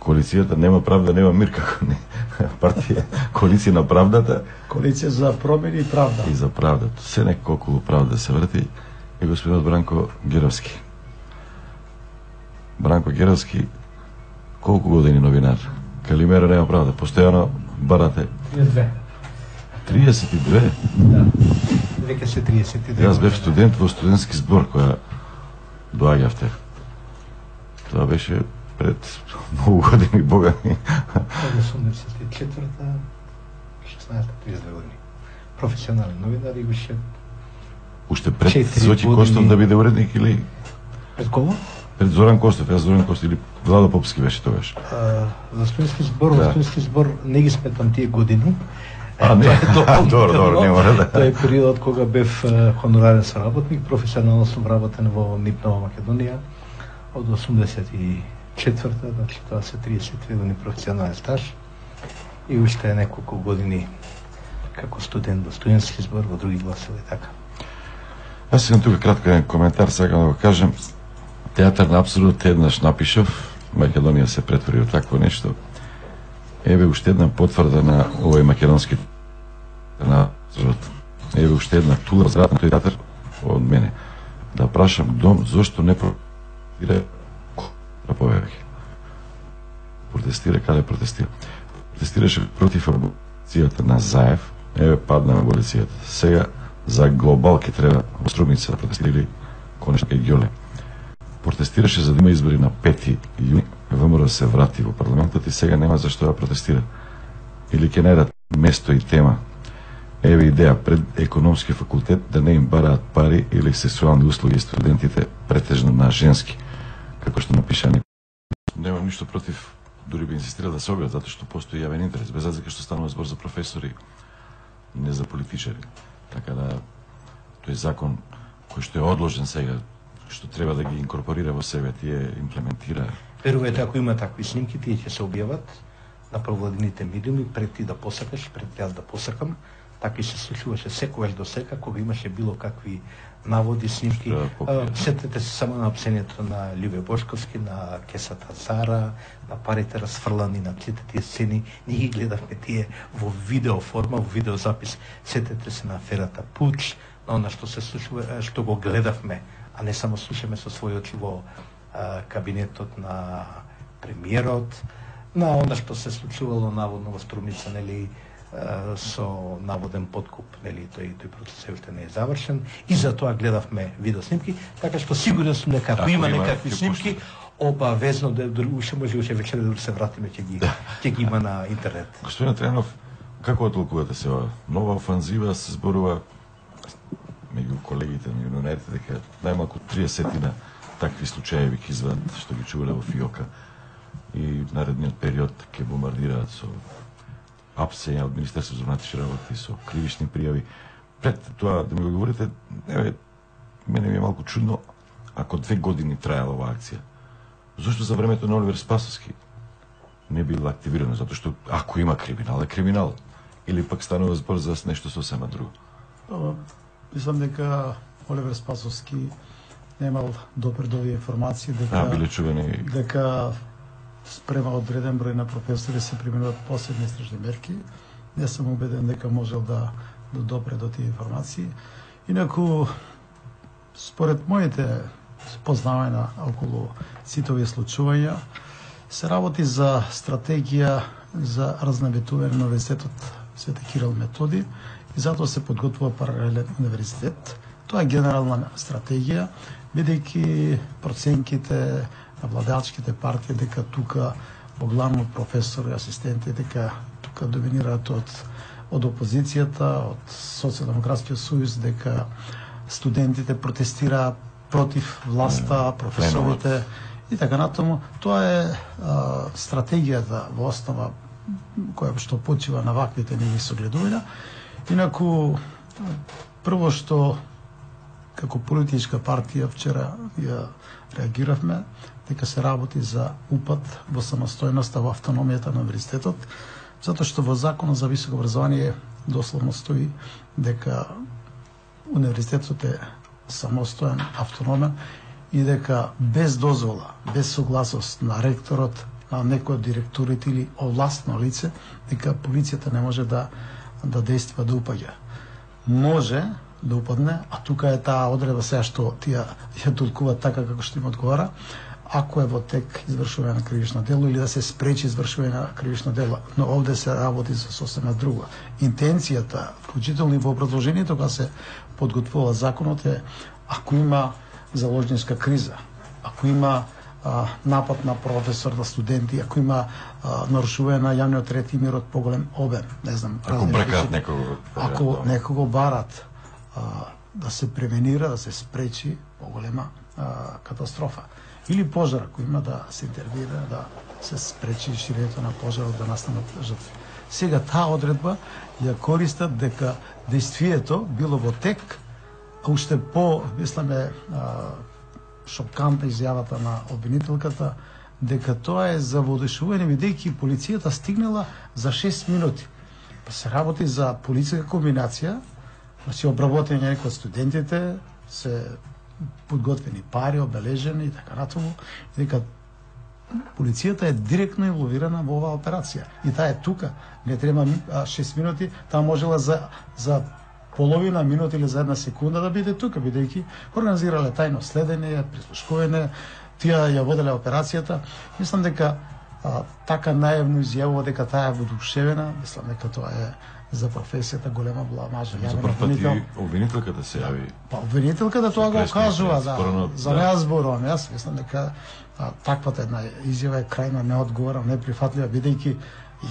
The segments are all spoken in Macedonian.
коалицијата нема правда, нема мир, како не. Партија, коалиција на правдата. Коалиција за промени и правда. И за правдата. Се некако околу правда се врти. И господинот Бранко Геровски. Бранко Геровски, колку години новинар? Калимера нема правда. Постојано барате. 32. 32? Да. Веќе се 32. Јас бев студент во студентски збор која доаѓавте. Тоа беше пред многу години, бога ми. 84-та, 16-32 години. Професионален новинар и уште пред Зоти Костов да биде уредник или пред кого? Пред Зоран Костов, јас Зоран Костов или Владо Попски беше тогаш. За студентски збор, во студентски збор не ги сметам тие години. Не, добро, не мора да. Тоа е периодот кога бев хонорарен соработник, професионално сум работен во НИП Нова Македонија од 84-та, значи тоа се 32 години професионален стаж и уште неколку години како студент во студентски збор, во други гласови, така. Јас имам тука кратко коментар, сакам да го кажем. Театар на апсурдот еднаш напишав, Македонија се претвори во такво нешто. Еве уште една потврда на овој македонски на апсурдот. Еве уште една тула за тој театар од мене. Да прашам дом зошто не протестира повеќе. Протестира каде протестира? Протестираше против аболицијата на Заев. Еве падна аболицијата. Сега за глобал ке треба во Струмица да протестирали конечно и Ѓоле. Протестираше за да има избори на 5 јуни, ВМРО се врати во парламентот и сега нема зашто да протестира. Или ќе најдат место и тема. Еве идеја пред економски факултет да не им бараат пари или сексуални услуги студентите претежно на женски, како што напиша некој. Немам ништо против, дури би инсистирал да се објават, затоа што постои јавен интерес, без разлика што станува збор за професори, не за политичари. Така да тој закон кој што е одложен сега, што треба да ги инкорпорира во себе, тие имплементира. Верувате, ако има такви снимки, тие ќе се објават на провладените медиуми пред ти да посакаш, пред јас да посакам. Така и се случуваше секогаш до сега, кога имаше било какви наводи, снимки. Сетете се само на опсението на Љубе Бошковски, на кесата Зара, на парите расфрлани, на сите тие сцени. Ние ги гледавме тие во видео форма, во видеозапис. Сетете се на аферата Пуч, на она што се случува, што го гледавме, а не само слушаме со своји очи во кабинетот на премиерот, на она што се случувало наводно во Струмица, нели, со наводен подкуп, нели, тој процес уште не е завршен и за тоа гледавме видеоснимки, така што сигурен сум дека ако има некакви снимки, обавезно да уште може вечер да се вратиме ќе ги има на интернет. Господин Тренов, како толкувате се ова? Нова офанзива се зборува меѓу колегите, меѓу новинарите, дека најмалку 30 такви случаи ќе извадат што ги чувале во ФИОКа и наредниот период ќе бомбардираат со апсења од Министерството за внатрешни работи со кривични пријави. Пред тоа да ми го говорите, еве, мене ми е малку чудно ако 2 години траела оваа акција. Зошто за времето на Оливер Спасовски не било активирано? Затоа што ако има криминал, е криминал. Или пак станува збор за нешто сосема друго? Мислам дека Оливер Спасовски немал допердови информации дека биле чувани дека спрема одреден број на професори се применуваат посебни истражни мерки. Не сум убеден дека можел да допре до тие информации. Инаку, според моите познавања околу сите овие случувања, се работи за стратегија за разнаметување на универзитетот Свети Кирил Методи и затоа се подготвува паралелен универзитет. Тоа е генерална стратегија, бидејќи проценките на владеачките партии дека тука поглавно професори, асистенти, дека тука доминираат од опозицијата, од Социјалдемократскиот сојуз, дека студентите протестираат против власта, професорите и така натаму. Тоа е стратегијата во основа која што почива на ваквите неги согледувања. Инаку, прво што како политичка партија вчера ја реагиравме дека се работи за упад во самостојноста, во автономијата на универзитетот, затоа што во Законот за високо образование дословно стои дека универзитетот е самостоен, автономен и дека без дозвола, без согласност на ректорот, некој од директорите или овластно лице, дека полицијата не може да действува, да упаѓа. Може да упадне, а тука е таа одредба сега што тие ја толкуваат така како што им одговара, ако е во тек извршување на кривично дело или да се спречи извршување на кривично дело. Но овде се работи за сосема друго. Интенцијата, вклучително и во продолжението кога се подготвува законот е, ако има заложничка криза, ако има напад на професор, на студенти, ако има нарушување на јавниот ред и мирот поголем обем, не знам, ако бркаат некого, ако некого барат, да се превенира, да се спречи поголема катастрофа. Или пожар, ако има да се интервира, да се спречи ширењето на пожарот, да настанат жртви. Сега таа одредба ја користат дека действието било во тек, а уште мисламе, шокантна изјавата на обвинителката дека тоа е за водешување, бидејќи полицијата стигнала за 6 минути. Па се работи за полицијска комбинација, значи обработени некои од студентите, се подготвени пари, обележени и така натаму, дека полицијата е директно инволвирана во оваа операција. И таа е тука, не треба 6 минути, таа можела за половина минута или за една секунда да биде тука, бидејќи организирале тајно следење, прислушкување, тие ја воделе операцијата. Мислам дека така најавно изјавува дека таа е воодушевена, мислам дека тоа е за професијата голема бламажа. За прв пат и обвинителката се јави. Па обвинителката тоа го кажува, за неа зборувам. Јас мислам дека таквата една изјава е крајно неодговорна, неприфатлива, бидејќи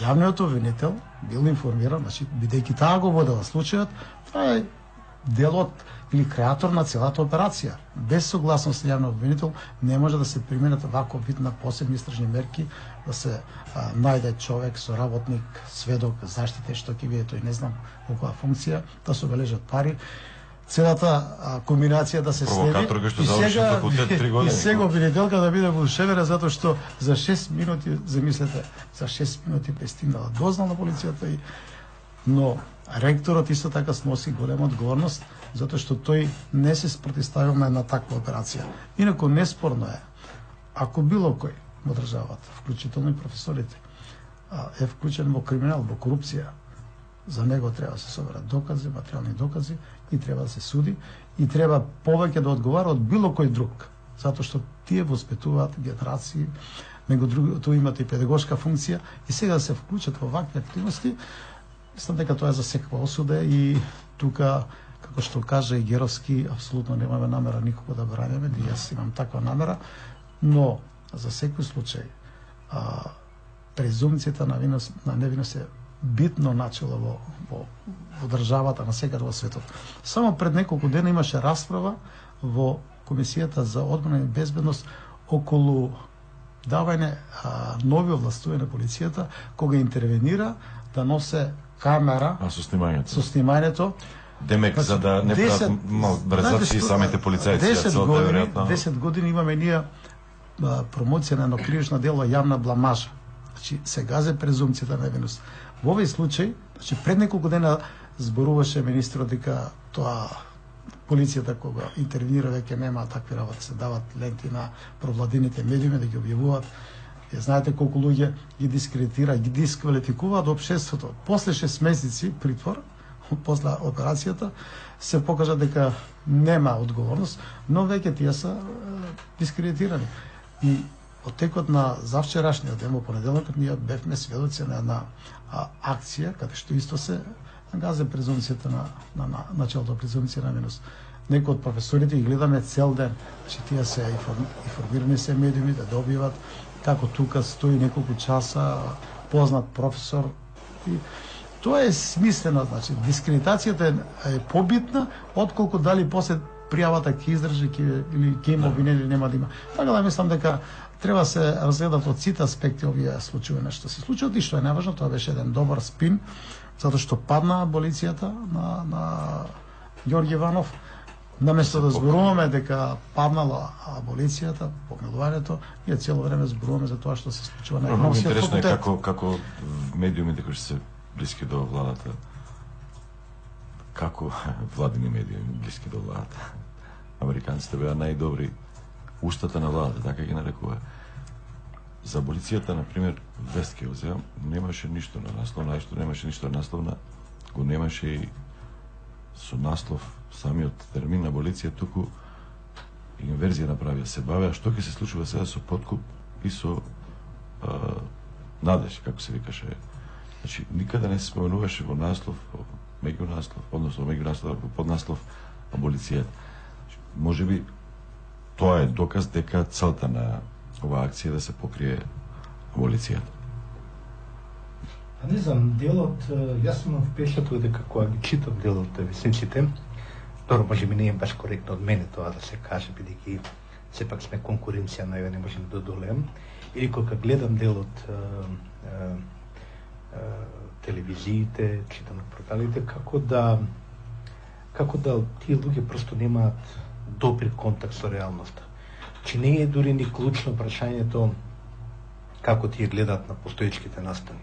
јавниот обвинител бил информиран, значи бидејќи таа го водела случајот, тоа е делот или креатор на целата операција. Без согласност на јавниот обвинител не може да се применат ваков вид на посебни истражни мерки, да се најде човек, соработник, сведок, заштите, што ќе биде тој не знам во која функција, да се обележат пари. Целата комбинација да се следи и сега обвинителка да биде воодушевена затоа што за 6 минути, замислете, за 6 минути пристигнала дознал на полицијата, но ректорот исто така сноси голема одговорност затоа што тој не се спротивставил на една таква операција. Инаку неспорно е, ако било кој во државата, вклучително и професорите, е вклучен во криминал, во корупција, за него треба да се соберат докази, материјални докази и треба да се суди и треба повеќе да одговара од било кој друг, затоа што тие воспитуваат генерации, него другото имате и педагошка функција и сега да се вклучат во вакви активности. Мислам дека тоа е за секаква осуда и тука, како што кажа и Геровски, апсолутно немаме намера никого да браниме, и јас имам таква намера, но за секој случај презумцијата на невиност е битно начело во државата, на секаде во светот. Само пред неколку дена имаше расправа во Комисијата за одбрана и безбедност околу давање нови овластувања на полицијата кога интервенира да носе камера со снимањето. Демек, за да не прават брзачи самите полицајци. 10 години имаме ние промоција на едно кривично дело јавна бламажа. Значи, се газе презумцијата на невиност. Во овој случај, значи пред неколку дена зборуваше министрот дека тоа полицијата кога интервенира веќе нема такви работи, се дават ленти на провладините медиуми да ги објавуваат. Знаете колку луѓе ги дискредитира, ги дисквалификуваат општеството. После 6 месеци притвор, после операцијата, се покажа дека нема одговорност, но веќе тие се дискредитирани. И од текот на завчерашниот ден, во понеделникот, ние бевме сведоци на една акција, каде што исто се газе презумцијата на началото презумција на невиност. Некои од професорите ги гледаме цел ден, че тие се информирани се медиуми да добиват како тука стои неколку часа познат професор. И тоа е смислено, значи дискредитацијата е побитна отколку дали после пријавата ќе издржи или ќе има обвинение или нема да има. Така да мислам дека треба се разгледат од сите аспекти овие случаи што се случат и што е најважно, тоа беше еден добар спин, затоа што падна аболицијата на Ѓорѓе Иванов. Наместо да зборуваме дека паднала аболицијата, помилувањето, ние цело време зборуваме за тоа што се случува на економскиот факултет. Интересно е како медиумите кои се блиски до владата, како владини медиуми блиски до владата. Американците беа најдобри устата на владата, така ги нарекува. За аболицијата, например, вест ќе оземам, немаше ништо на насловна, немаше ништо на насловна, го немаше и со наслов самиот термин аболиција, туку инверзија направија, се бавеа што ќе се случува сега со подкуп и со надеж, како се викаше. Значи, никаде не се споменуваше во наслов, меѓунаслов, односно меѓунаслов, поднаслов аболицијата. Може би тоа е доказ дека целта на оваа акција да се покрие аболицијата. Не знам, делот, јас имам впечаток дека кога ги читам делот весниците, добро, може би не е баш коректно од мене тоа да се каже, бидејќи сепак сме конкуренција, на ја не можеме да одолеем, или кога гледам делот телевизиите, читам на порталите, како да тие луѓе просто немаат допир контакт со реалноста. Че не е дури ни клучно прашањето како тие гледаат на постоечките настани.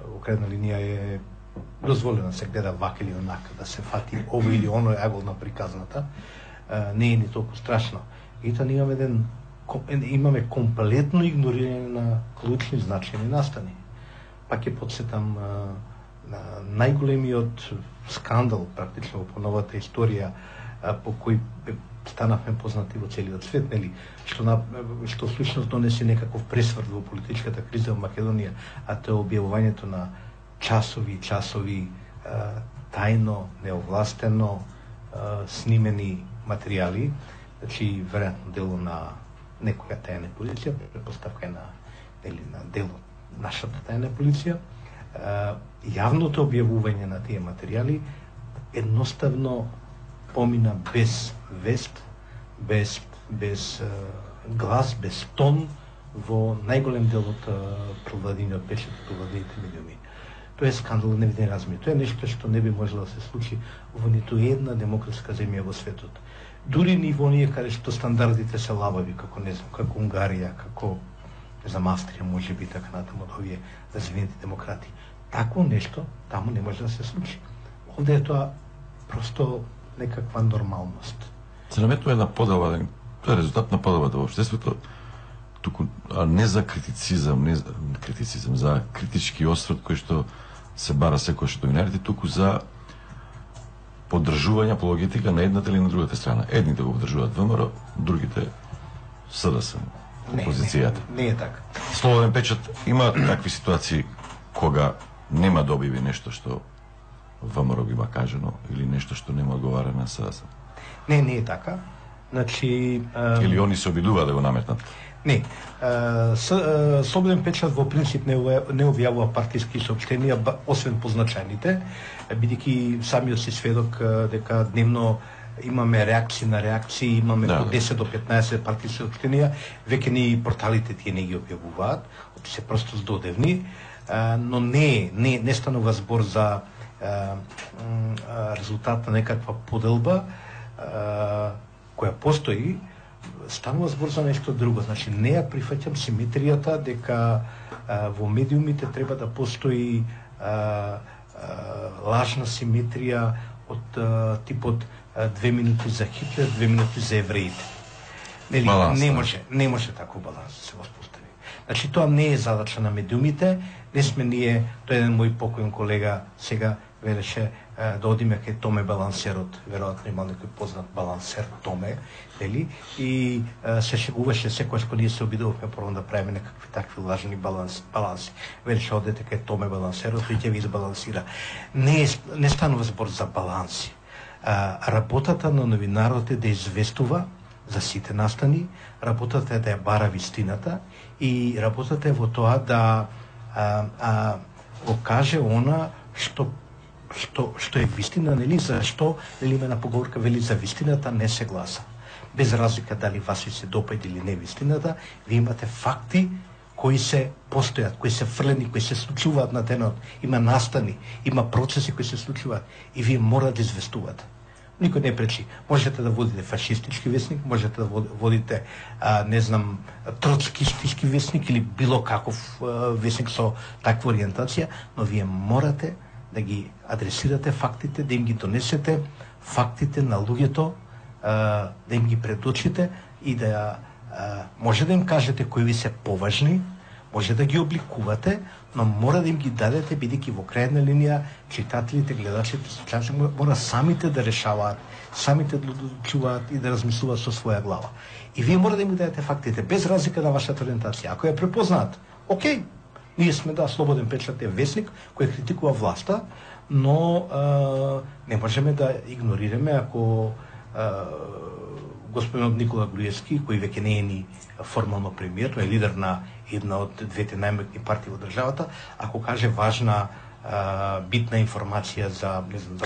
Во крајна линија е дозволено да се гледа вака или онака, да се фати ово или оно ъгол на приказната, не е ни толку страшно. И тоа имаме комплетно игнорирање на клучни значајни настани. Пак ќе подсетам на најголемиот скандал практично во новата историја по кој станавме познати во целиот свет, нели, што слушност донесе некаков пресврт во политичката криза во Македонија, а тоа е објавувањето на часови тајно, неовластено снимени материјали, значи веројатно дело на некоја тајна полиција, претпоставка е на дело нашата тајна полиција. Јавното објавување на тие материјали едноставно помина без вест, без глас, без тон во најголем дел од провладениот печат, провладените медиуми. Тоа е скандал од невиден размер. Тоа е нешто што не би можело да се случи во ниту една демократска земја во светот. Дури ни во оние каде што стандардите се лабави, како не знам, како Унгарија, како не знам, Австрија, може би така натаму од овие развиените демократи. Такво нешто таму не може да се случи. Овде е тоа просто некаква нормалност. Се наметува една поделба, тоа е резултат на поделбата во општеството, туку не за критицизам, за критички осврт кој што се бара секојаш од новинарите, туку за поддржување апологетика на едната или на другата страна. Едните го поддржуваат ВМРО, другите СДСМ, опозицијата. Не е така. Слободен печат има такви ситуации кога нема да објави нешто што ВМРО бима кажено или нешто што нема одговара на СДСМ. Не е така. Значи или они се обидуваат да го наметнат. Не. Слободен печат во принцип не објавува партиски соопштенија, освен позначајните, бидејќи самиот си сведок дека дневно имаме реакции на реакции, имаме по 10 до 15 партиски соопштенија, веќе ни порталите тие не ги објавуваат, се просто здодевни, но не станува збор за резултат на некаква поделба која постои, станува збор за нешто друго. Значи, не ја прифаќам симетријата дека во медиумите треба да постои лажна симетрија од типот 2 минути за Хитлер, 2 минути за евреите. Нели, не може таков баланс да се воспостави. Значи, тоа не е задача на медиумите, не сме ние, тој еден мој покојен колега сега велеше да одиме кај Томе балансерот, веројатно има некој познат балансер Томе, нели? И се шегуваше секогаш кога ние се обидувавме прво да правиме некакви такви лажни баланси. Велеше одете кај Томе балансерот и ќе ви избалансира. Не станува збор за баланси. Работата на новинарот е да известува за сите настани, работата е да ја бара вистината и работата е во тоа да го каже она што е вистина, нели, зашто, нели, има една поговорка, вели, за вистината не се гласа. Без разлика дали вас ви се допаѓа или не вистината, ви имате факти кои се постојат, кои се фрлени, кои се случуваат на денот, има настани, има процеси кои се случуваат и вие мора да известувате. Никој не пречи. Можете да водите фашистички весник, можете да водите, не знам, троцкистички весник или било каков весник со таква ориентација, но вие морате да ги адресирате фактите, да им ги донесете фактите на луѓето, да им ги предочите и да може да им кажете кои ви се поважни, може да ги обликувате, но мора да им ги дадете, бидејќи во крајна линија читателите, гледачите, слушачите мора самите да решаваат, самите да одлучуваат и да размислуваат со своја глава. И вие мора да им дадете фактите, без разлика на вашата ориентација. Ако ја препознаат, окей, ние сме Слободен печат е весник кој критикува власта, но не можеме да игнорираме ако господинот Никола Груевски, кој веќе не е ни формално премиер, тој е лидер на една од двете најмоćни партии во државата, ако каже важна битна информација за, не знам, за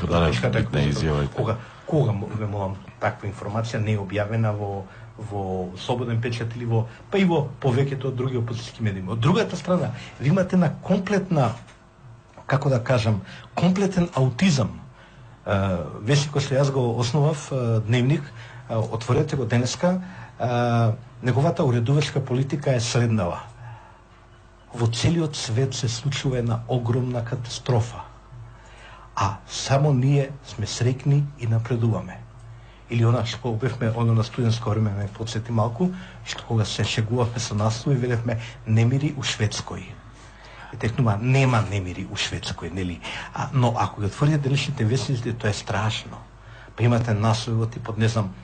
битна изјава. Кога молам таква информација не е објавена во Слободен печат или па и во повеќето од други опозицијски медии. Од другата страна, ви имате на комплетна, како да кажам, комплетен аутизам. Весникот што јас го основав, Дневник, отворете го денеска, неговата уредувачка политика е следнава. Во целиот свет се случува една огромна катастрофа, а само ние сме среќни и напредуваме. Или она што бевме на студентско време, ме подсети малку, што кога се шегувавме со наслови, велевме немири у Шведској. И текнува, нема немири у Шведској, нели? Но ако ги отворите денешните весници, тоа е страшно. Па имате наслови типот, не знам,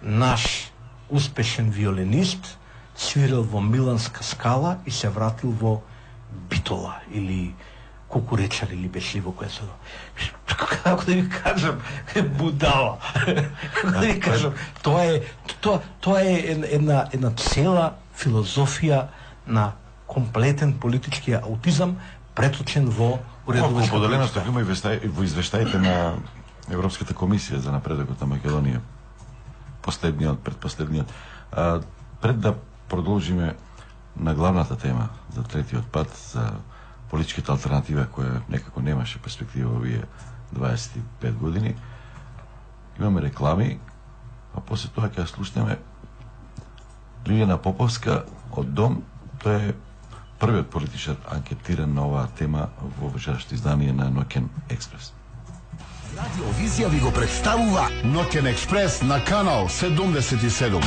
наш успешен виолинист свирил во Миланска скала и се вратил во Битола или Кукуречар или беше ли во која се... Како да ви кажам, будала. Како да ви кажам, тоа е една цела филозофија на комплетен политички аутизам преточен во уредувачка политика. Поделеност има и во извештаите на Европската комисија за напредокот на Македонија. Последниот, предпоследниот. Пред да продолжиме на главната тема за третиот пат, за политичката алтернатива која некако немаше перспектива во овие 25 години, имаме реклами, а после тоа ќе слушнеме Лилијана Поповска од Дом. Тоа е првиот политичар анкетиран на оваа тема во вечерашното издание на Ноќен експрес. Радиовизија ви го представува Ноќен експрес на канал 77.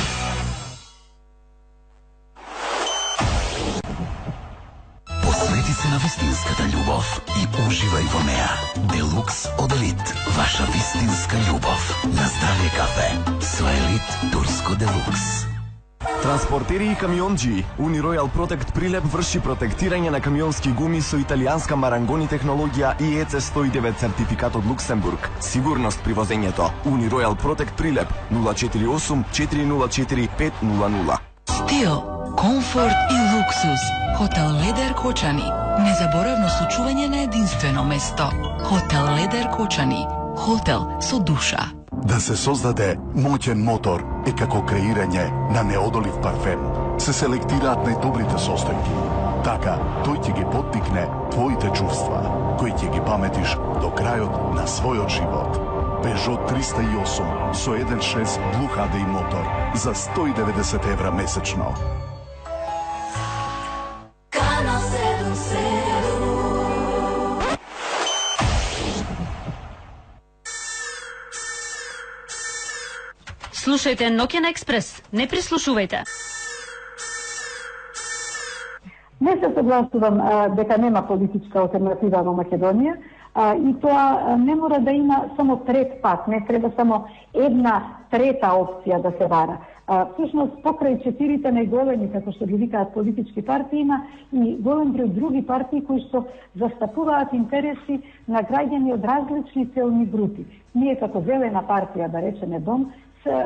Посвети се на вистинската љубов и уживај во неа. Делукс од Елит, ваша вистинска љубов. На здравје кафе со Елит Турско Делукс. Транспортери и камионџи, Uniroyal Protect Прилеп врши протектирање на камионски гуми со италијанска Марангони технологија и ЕЦ 109 сертификат од Луксембург. Сигурност при возењето. Uniroyal Protect Прилеп 048 404 500. Стил, комфорт и луксус. Хотел Ледер Кочани. Незаборавно случување на единствено место. Хотел Ледер Кочани. Хотел со душа. Да се создаде моќен мотор е како креирање на неодолив парфем. Се селектираат најдобрите состојки. Така, тој ќе ги поттикне твоите чувства, кои ќе ги паметиш до крајот на својот живот. Peugeot 308 со 1.6 Blue HDI мотор за 190 евра месечно. Слушајте Ноќен експрес, не прислушувајте. Не се согласувам дека нема политичка алтернатива во Македонија и тоа не мора да има само трет пат, не треба само една трета опција да се бара. Всушност, покрај четирите најголеми, како што ги викаат политички партии, има и голем број други партии кои што застапуваат интереси на граѓани од различни целни групи. Ние како Зелена партија, да речеме Дом,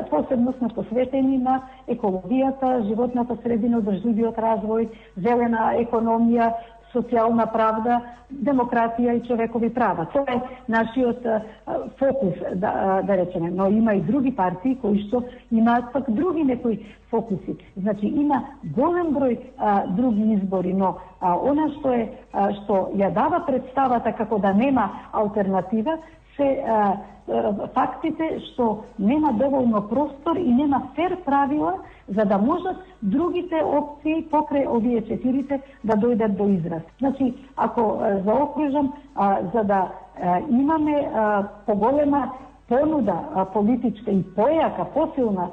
посебно сме посветени на екологијата, животната средина, одржливиот развој, зелена економија, социјална правда, демократија и човекови права. Тоа е нашиот фокус, да речеме. Но има и други партии кои што имаат пак други некои фокуси. Значи има голем број други избори, но она што ја дава представата како да нема алтернатива се фактите што нема доволно простор и нема фер правила за да можат другите опции покрај овие четирите да дојдат до израз. Значи, ако заокружам, за да имаме поголема понуда политичка и појака, посилна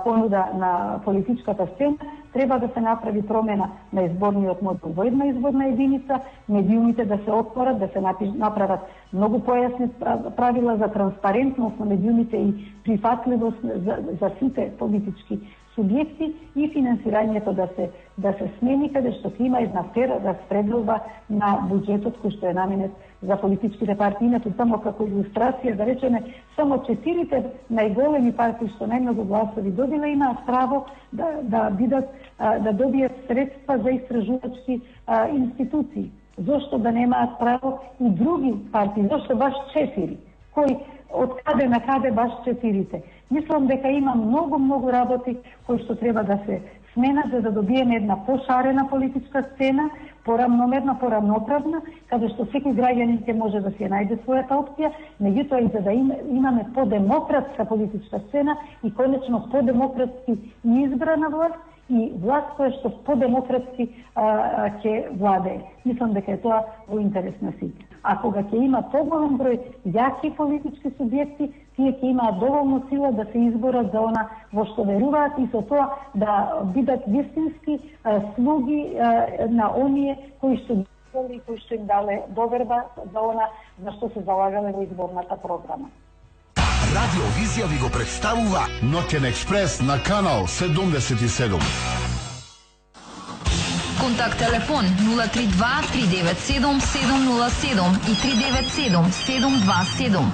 понуда на политичката сцена, треба да се направи промена на изборниот модел во една изборна единица, медиумите да се отворат, да се направат многу појасни правила за транспарентност на медиумите и прифатливост за сите политички субјекти и финансирањето да се смени, каде што ќе има една фера распределба на буџетот кој што е наменет за политичките партии. Иначе само како илустрација да речеме, само 4 најголеми партии што најмногу гласови добиле имаат право да добијат средства за истражувачки институции. Зошто да немаат право и други партии? Зошто баш 4? Кои од каде на каде баш 4-те? Мислам дека има многу работи кои што треба да се сменат за да добиеме една пошарена политичка сцена, порамномерна, порамноправна, каде што секој граѓанин ќе може да си најде својата опција, меѓутоа и за да имаме подемократска политичка сцена и конечно подемократски избрана власт и власт која што подемократски ќе владее. Мислам дека е тоа во интерес на сите. А кога ќе има поголем број јаки политички субјекти, тие ќе имаат доволно сила да се изборат за она во што веруваат и со тоа да бидат вистински слуги на оние кои што им дале доверба за она за што се залагале во изборната програма. Радио Визија ви го представува Ноќен експрес на канал 77. Контакт телефон 032 397 707 и 397 727.